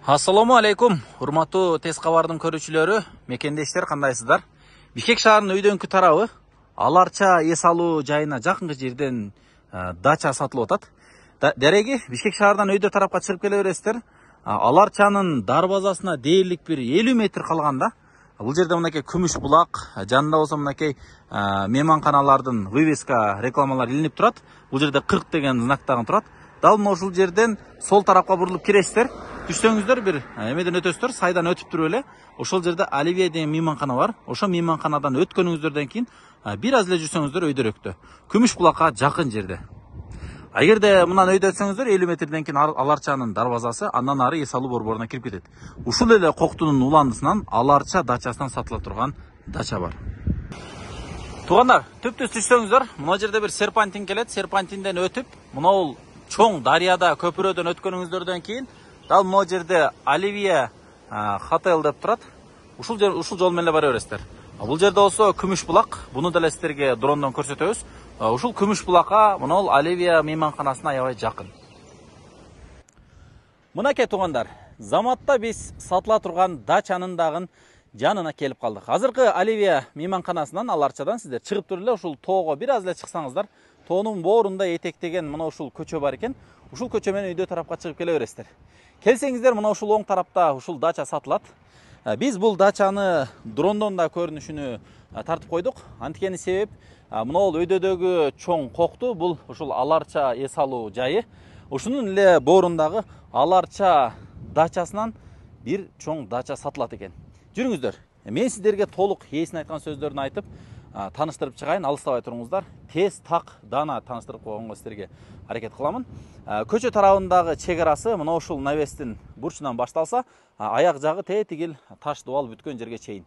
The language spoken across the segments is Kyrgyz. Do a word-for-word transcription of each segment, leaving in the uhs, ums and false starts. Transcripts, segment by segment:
Ассаламу алейкум, урматтуу тез кабардын көрүүчүлөрү, мекендештер кандайсыздар? Бишкек шаарынын өйдөңкү тарабы Аларча эс алуу жайына жакынкы жерден дача сатылып атат. Дереги Бишкек шаардан өйдө тарапка чыгып келе бересиздер. Аларчанын дарбазасына дээрлик бир элүү метр калганда бул жерде мынакей күмүш булак, жанында болсо мынакей мейманканалардын вывеска рекламалар илинип турат. Бул жерде кырк деген знак дагы турат. Дал мына ушул жерден сол тарапка бурулуп киресиздер. Түшсөңүздөр бир эмеден өтөсүздөр, сайдан өтүп туруп эле ошол жерде Оливия деген мейманкана бар. Ошо мейманканадан өткөнүңүздөрдөн кийин бир аз эле жүрсөңүздөр өйдөрөктө. Күмүш булакка жакын жерде. Эгерде мындан өйдө өтсөңүздөр элүү метрден кийин Аларчанын дарбазасы, андан ары эс алуу борборуна кирип кетет. Ушул эле Коктунун уландысынан Аларча дачасынан сатыла турган дача бар. Туугандар, түптүз түшсөңүздөр, мына жерде бир серпантин келет. Серпантинден өтүп, мына чоң дарыяда көпүрөдөн өткөнүңүздөрдөн кийин дал мына жерде Оливия хотел деп турат. Ушул жер ушул жол менен бара бересиздер. Бул жерде болсо күмүш булак, буну деле сиздерге дрондон көрсөтөбүз. Ушул күмүш булакка мына Оливия мейманканасына аябай жакын. Мынакей туугандар, заматта биз сатыла турган дачанын дагы жанына келип калдык. Азыркы Оливия мейманканасынан Аларчадан сиздер чыгып туруп эле ушул тоого бир аз эле чыксаңыздар, тоонун боорунда этектеген мына ушул көчө бар экен. Ушул көчө менен өйдө тарапка чыгып келе бересиздер. Келсеңиздер, мына ушул оң тарапта ушул дача сатылат. Биз бул дачаны дрондон да көрүнүшүнү тартып койдук. Анткени себеп мына бул өйдөдөгү чоң Кокту, бул ушул Аларча эс алуу жайы. Ушунун эле боорундагы Аларча дачасынан бир чоң дача сатылат экен. Жүрүңүздөр. Мен сиздерге толук ээсин айткан сөздөрүн айтып, таныштырып чыгайын, алыстабай туруңуздар. Тез так дана таныштырып койгонго сиздерге аракет кыламын. Көчө тарабындагы чек арасы мына ушул навестин бурчунан башталса, аяк жагы тетигил таш дубал бүткөн жерге чейин.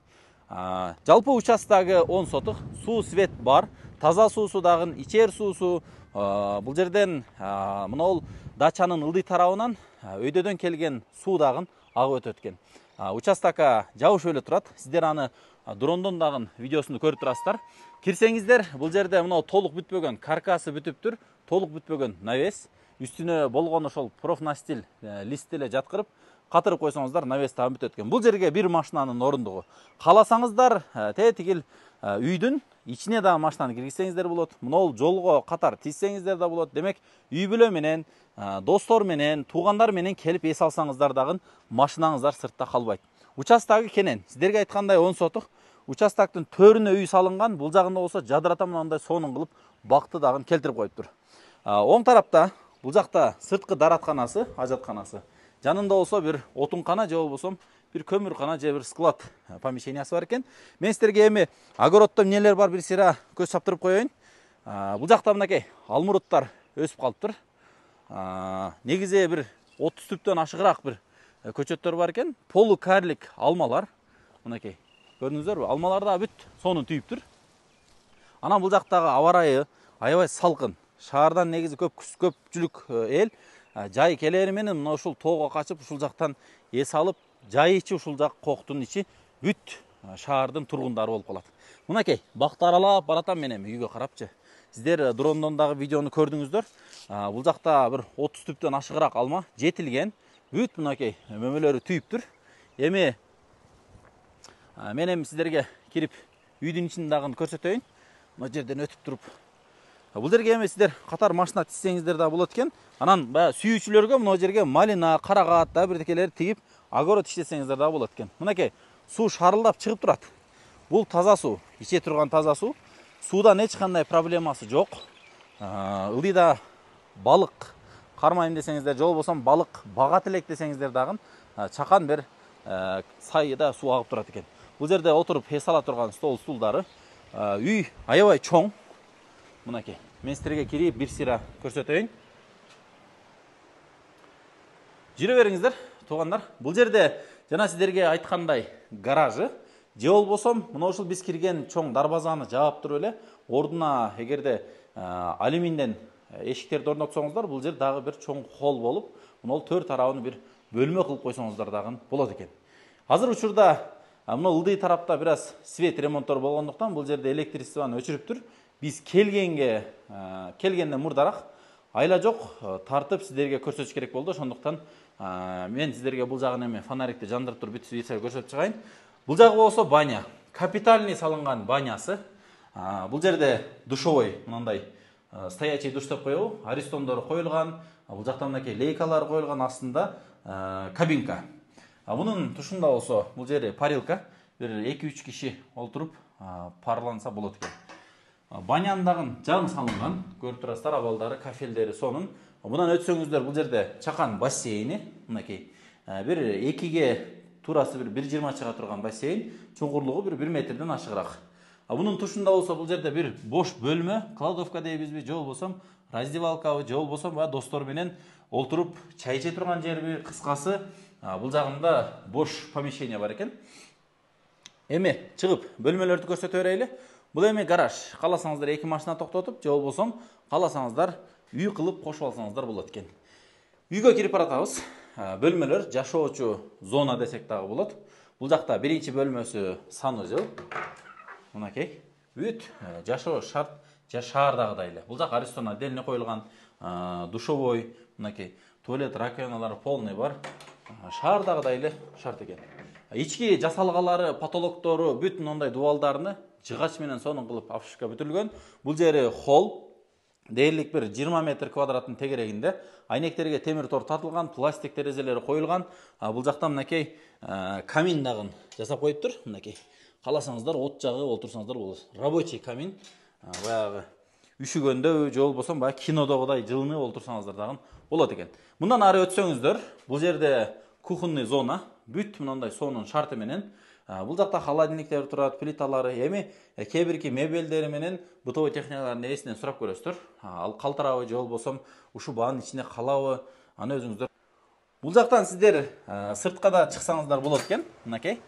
Жалпы участогу он сотук, суу свет бар, таза суусу дагы, ичер суусу. Бул жерден мына бул дачанын ылдый тарабынан өйдөдөн келген суу дагы агып өтөт экен. Участокко жабышып эле турат. Сиздер аны дрондон дагы видеосун көрүп турасыздар. Кирсеңиздер, бул жерде мына толук бүтпөгөн, каркасы бүтүптүр, толук бүтпөгөн навес. Үстүнө болгон ошол профнастил лист эле жаткырып, катырып койсоңуздар, навес табы бүтөт экен. Бул жерге бир машинанын орундугу. Кааласаңыздар, тетигил үйдүн ичине дагы машинаны киргизсеңиздер болот. Мына бул жолго катар тизсеңиздер да болот. Демек, үй бүлө менен, достор менен, туугандар менен келип эс алсаңыздар дагы машинаңыздар сыртта калбайт. Участогу кенен. Сиздерге айткандай он сотук. Участоктун төрүнө үй салынган. Бул жагында болсо жадырата мындай сонун кылып бакты дагы келтирип коюптур. Оң тарапта бул жакта сырткы даратканасы, ажатканасы. Жанында болсо бир отункана же болбосо бир көмүркана же бир склад помещениясы бар экен. Мен сиздерге эми огороддо эмнелер бар бир сыйра көз чаптырып коеюн. Бул жакта мынакей алмуруттар өсүп калыптыр. Негизи бир отуз түптөн ашыгыраак бир көчөттөр бар экен. Полукарлик алмалар. Мынакей. Көрдүңүздөрбү? Алмалар да бүт сонун түйүптүр. Анан бул жактагы аба ырайы аябай салкын. Шаардан негизи көп көпчүлүк эл жай келери менен мына ушул тоого качып, ушул жактан эс алып, жай ичи ушул жак Коктун ичи бүт шаардын тургундары болуп калат. Мынакей, бакты аралап баратам мен эми үйгө карапчы. Сиздер дрондон дагы видеону көрдүңүздөр. Бул жакта бир отуз түптөн ашыгыраак алма жетилген. Бүт мынакей мөмөлөрү түйүптүр. Эми мен эми сиздерге кирип үйдүн ичин дагы көрсөтөйүн. Мына жерден өтүп туруп. Бул жерге эми сиздер катар машина тизсеңиздер да болот экен. Анан баягы сүйүүчүлөргө мына жерге малина, карагат да бирдекелерди тигип, огород иштесеңиздер да болот экен. Мынакей суу шарылдап чыгып турат. Бул таза суу, иче турган таза суу. Суудан эч кандай проблемасы жок. Ылдыйда балык кармайм десеңиздер, же болбосо балык багат элек десеңиздер дагы чакан бир сайда суу агып турат экен. Бул жерде отуруп эс ала турган стол стулдары. Үй аябай чоң. Мынакей, мен сиздерге кирип бир сыйра көрсөтөйүн. Жүрө бериңиздер, туугандар. Бул жерде жана сиздерге айткандай гаражы, же болбосо мына ушул биз кирген чоң дарбазаны жаап туруп эле ордуна эгерде алюминден эшиктерди орнотсоңуздар, бул жер дагы бир чоң холл болуп, мына бул төрт тарабын бир бөлмө кылып койсоңуздар дагы болот экен. Азыр учурда мына ылдый тарапта бир аз свет ремонттор болгондуктан бул жерде электричествону өчүрүптүр. Биз келгенге келгенден мурдараак айла жок тартып сиздерге көрсөтүш керек болду. Ошондуктан Мен сіздерге бұл жағын эме фонарикти жандырып туруп бүт видео көрсөтүп чыгайын. Бұл жағы болсо баня. Капитальный салынган банясы. Бұл жерде душовой мынандай стоячий душ деп коебу, аристомдор коюлган, бул жакта мынакей лейкалар коюлган, астында кабинка. Мунун тушунда болсо бул жери парилка, бир эки үч киши олтуруп парланса болот экен. Банянын дагы жан салынган, көрүп турасыздар, абалдары, кафелдери сонун. Мындан өтсөңүздөр бул жерде чакан бассейни, мынакей бир экиге турасы бир бир жыйырма чыга турган бассейн, чуңкурлугу бир бир метрден ашыгыраак. Мунун тушунда болсо бул жерде бир бош бөлмө, кладовка дейбизби, же болбосо раздевалкабы, же болбосо баягы достор менен олтуруп чай иче турган жерби, кыскасы бул жагында бош помещение бар экен. Эми чыгып бөлмөлөрдү көрсөтө берели. Бул эми гараж. Кааласаңыздар эки машина токтотуп, же болбосо кааласаңыздар үй кылып кошуп алсаңыздар болот экен. Үйгө кирип баратабыз. Бөлмөлөр жашоочу зона десек дагы болот. Бул жакта биринчи бөлмөсү санузел. Мынакей. Бүт жашоо шарт шаардагыдай эле. Бул жак аристон отдельно коюлган, душовой, мынакей туалет, раковиналары полный бар. Шаардагыдай эле шарт экен. Ички жасалгалары, потолоктору бүт мындай дубалдарны жыгач менен сонун кылып обшивка бүтүлгөн. Бул жери холл. Дээрлик бир жыйырма метр квадраттын тегерегинде. Айнектерге темир тор тартылган, пластик терезелери коюлган. Бул жакта мынакей камин дагы жасап коюптур. Мынакей. Кааласаңыздар от жагып олтурсаңыздар болот. Рабочий камин. Баягы үшүгөндө, же болбосо баягы кинодогудай жылынып олтурсаңыздар дагы болот экен. Мындан ары өтсөңүздөр, бул жерде кухонный зона, бүт мындай сонун шарты менен. Бул жакта холодильниктер турат, плиталары, эми кээ бирки мебелдери менен бытовой техникалардын ээсинен сурап көрөсүздөр. Ал калтырабы, же болбосо ушул баанын ичине калабы, аны өзүңүздөр. Бул жактан сиздер сыртка да чыксаңыздар болот экен, мынакей.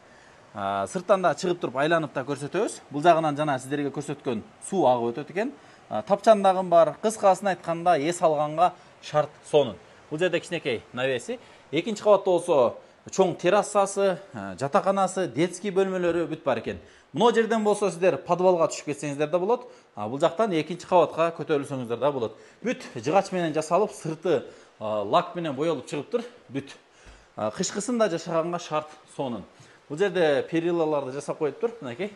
Сырттан да чыгып туруп айланып да көрсөтөбүз. Бул жагынан жана сиздерге көрсөткөн суу агып өтөт экен. Тапчан дагы бар. Кыскасын айтканда эс алганга шарт сонун. Бул жерде кичинекей навеси. Экинчи кабатта болсо чоң террасасы, жатаканасы, детский бөлмөлөрү бүт бар экен. Мына жерден болсо сиздер подвалга түшүп кетсеңиздер да болот. Бул жактан экинчи кабатка көтөрүлсөңүздөр да болот. Бүт жыгач менен жасалып, сырты лак менен боелуп чыгыптыр. Бүт. Кышкысында жашаганга шарт сонун. Бул жерде перилаларды жасап коюптур. Мынакей.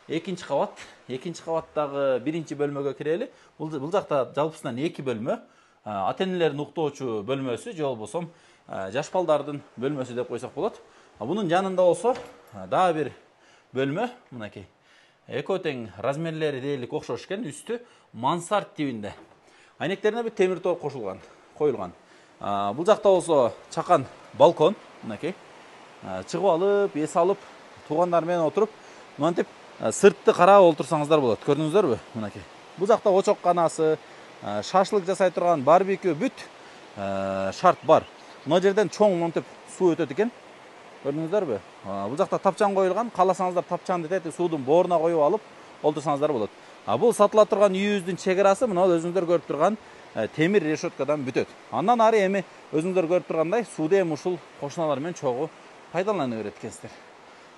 Экинчи кабат, экинчи кабаттагы биринчи бөлмөгө кирели. Бул бул жакта жалпысынан эки бөлмө. Ата-энелердин уктоочу бөлмөсү, же болбосо жаш балдардын бөлмөсү деп койсок болот. Бунун жанында болсо дагы бир бөлмө, мынакей. Экөө тең размерлери дээрлик окшош экен, үстү мансард тибинде. Айнектерине бир темир тор кошулган, коюлган. Бул жакта болсо чакан балкон, мынакей. Чыгып алып, эс алып, туугандар менен отуруп, мынтип сыртты карап олтурсаңыздар болот. Көрдүңүздөрбү? Мынакей. Бул жакта очок канасы, шашлык жасай турган барбекю бүт шарт бар. Мына жерден чоң монтип суу өтөт экен. Көрдүңүздөрбү? Бул жакта тапчан коюлган. Кааласаңыздар тапчанды тетип суудун бооруна коюп алып олтурсаңыздар болот. Бул сатыла турган үйүбүздүн чегарасы мына өзүңүздөр көрүп турган темир решеткадан бүтөт. Андан ары эми өзүңүздөр көрүп тургандай сууду эми ушул кошуналар менен чогуу пайдалана берет экенсиздер.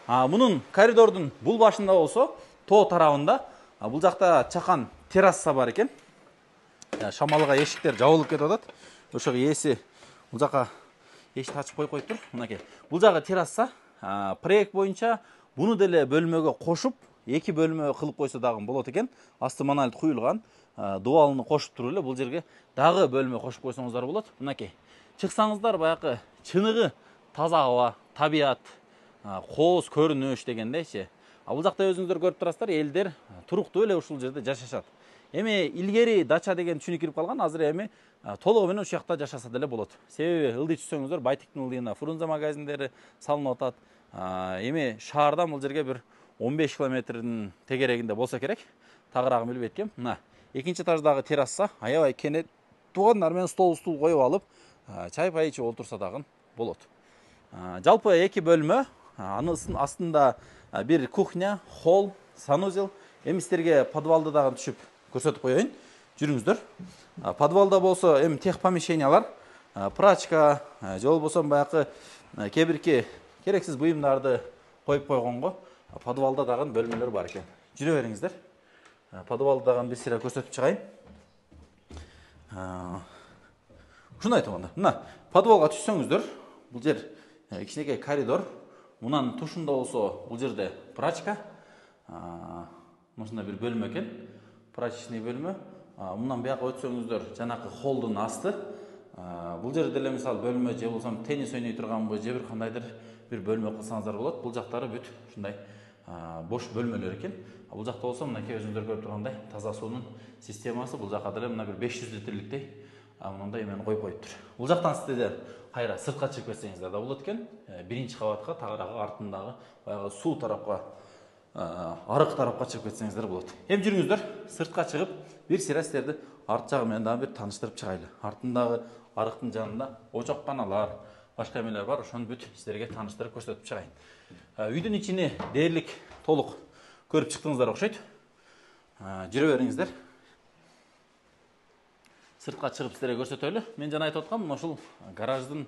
Мунун коридордун бул башында болсо тоо тарабында бул жакта чакан терраса бар экен. Шамалга эшиктер жабылып кетип атат. Ошого ээси бул жака эшикти ачып коюп коюптур. Мынакей. Бул жагы терраса. Проект боюнча буну деле бөлмөгө кошуп, эки бөлмө кылып койсо дагы болот экен. Асты монолит куюлган. Дубалын кошуп туруп эле бул жерге дагы бөлмө кошуп койсоңуздар болот. Мынакей. Чыксаңыздар баягы чыныгы таза аба, табият, кооз көрүнүш дегендейчи. Бул жакта өзүңүздөр көрүп турасыздар, элдер туруктуу эле ушул жерде жашашат. Эми илгери дача деген түшүнүк кирип калган, азыр эми толугу менен ушул жакта жашаса деле болот. Себеби ылдый түшсөңүздөр Байтиктин ылдыйына Фрунзе магазиндери салынып атат. Эми шаардан бул жерге бир он беш километрдин тегерегинде болсо керек. Тагыраагын билбейт экем. Мына экинчи этаждагы терраса, аябай кенет туугандар менен стол стул коюп алып, чай пай ичип олтурса дагы болот. Жалпы эки бөлмө, анын астында бир кухня, холл, санузел. Эми сиздерге подвалды дагы түшүп көрсөтүп коеюн. Жүрүңүздөр. Подвалда болсо эми тех помещениялар, прачка, же болбосо баягы кээ бирки керексиз буюмдарды коюп койгонго подвалда дагы бөлмөлөр бар экен. Жүрө бериңиздер. Подвалды дагы бир сыйра көрсөтүп чыгайын. Ушуну айтам анда. Мына подвалга түшсөңүздөр, Бул жер кичинекей коридор. Мунан тушунда болсо бул жерде прачка. Мындай бир бөлмө экен. Прачечный бөлмө. Мындан бияка өтсөңүздөр жанакы холдун асты. Бул жерде деле мисалы бөлмө же болсо теннис ойной турганбы, же бир кандайдыр бир бөлмө кылсаңыздар болот. Бул жактары бүт ушундай бош бөлмөлөр экен. Бул жакта болсо мынакей өзүңүздөр көрүп тургандай таза суунун системасы. Бул жакка деле мына бир беш жүз литрликтей мындай эмени коюп коюптур. Бул жактан сиздер кайра сыртка чыгып кетсеңиздер да болот экен. Биринчи кабатка тагыраагы артындагы баягы суу тарапка, арык тарапка чыгып кетсеңиздер болот. Эми жүрүңүздөр, сыртка чыгып, бир сыйра сиздерди арт жагы менен дагы бир тааныштырып чыгайлы. Артындагы арыктын жанында очокканалар, башка эмелер бар, ошону бүт сиздерге тааныштырып көрсөтүп чыгайын. Үйдүн ичини дээрлик толук көрүп чыктыңыздар окшойт. Жүрө бериңиздер. Сыртка чыгып сиздерге көрсөтөлү. Мен жана айтып аткам, ушул гараждын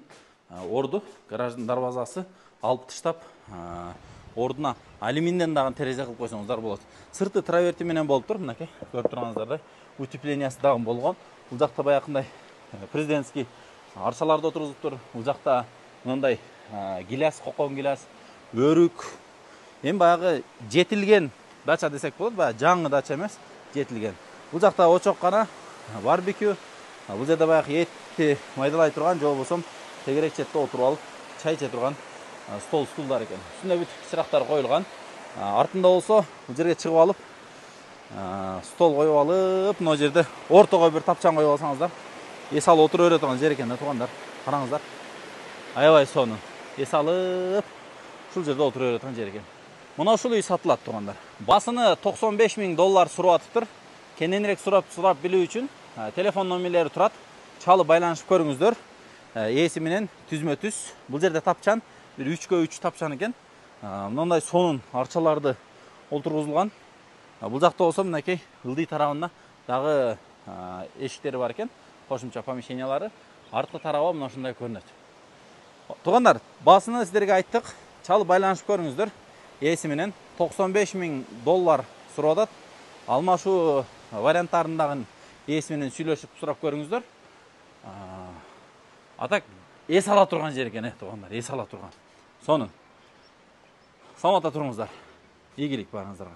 орду, гараждын дарбазасы алып таштап, ордуна алюминден дагы терезе кылып койсоңуздар болот. Сырты траверти менен болуптур, мынакей көрүп турганыңыздардай. Утеплениясы дагы болгон. Бул жакта баягындай президентский арчаларды отургузуптур. Бул жакта мындай гиляс, кокон гиляс, өрүк. Эми баягы жетилген дача десек болот, баягы жаңы дача эмес, жетилген. Бул жакта очоккана, барбекю. Бул жерде баягы этти майдалай турган, же болбосо тегерек четте отуруп алып чай иче турган стол стулдар экен. Үстүнө бүт чырактар коюлган. Артында болсо бул жерге чыгып алып, стол коюп алып, мына жерде ортого бир тапчан коюп алсаңыздар, эс алып отура бере турган жер экен да, туугандар. Караңыздар. Аябай сонун. Эс алып, ушул жерде отура бере турган жер экен. Мына ушул үй сатылат, туугандар. Басыны токсон беш миң доллар сурап атыптыр. Кененирээк сурап сурап билүү үчүн телефон номерлери турат. Чалып байланышып көрүңүздөр. Ээси менен түзмө түз. Бул жерде тапчан бир үчкө үч тапчан экен. Мындай сонун арчаларды олтургузулган. Бул жакта болсо мынакей ылдый тарабында дагы эшиктери бар экен. Кошумча помещениялары. Арткы тарабы мына ушундай көрүнөт. Туугандар, басыны сиздерге айттык. Чалып байланышып көрүңүздөр. Ээси менен токсон беш миң доллар сурап атат. Алмашуу варианттарындагы ээси менен сүйлөшүп сурап көрүңүздөр. Атак эс ала турган жер экен, туугандар, эс ала турган. Сонун. Саламатта туруңуздар. Ийгилик барыңыздарга.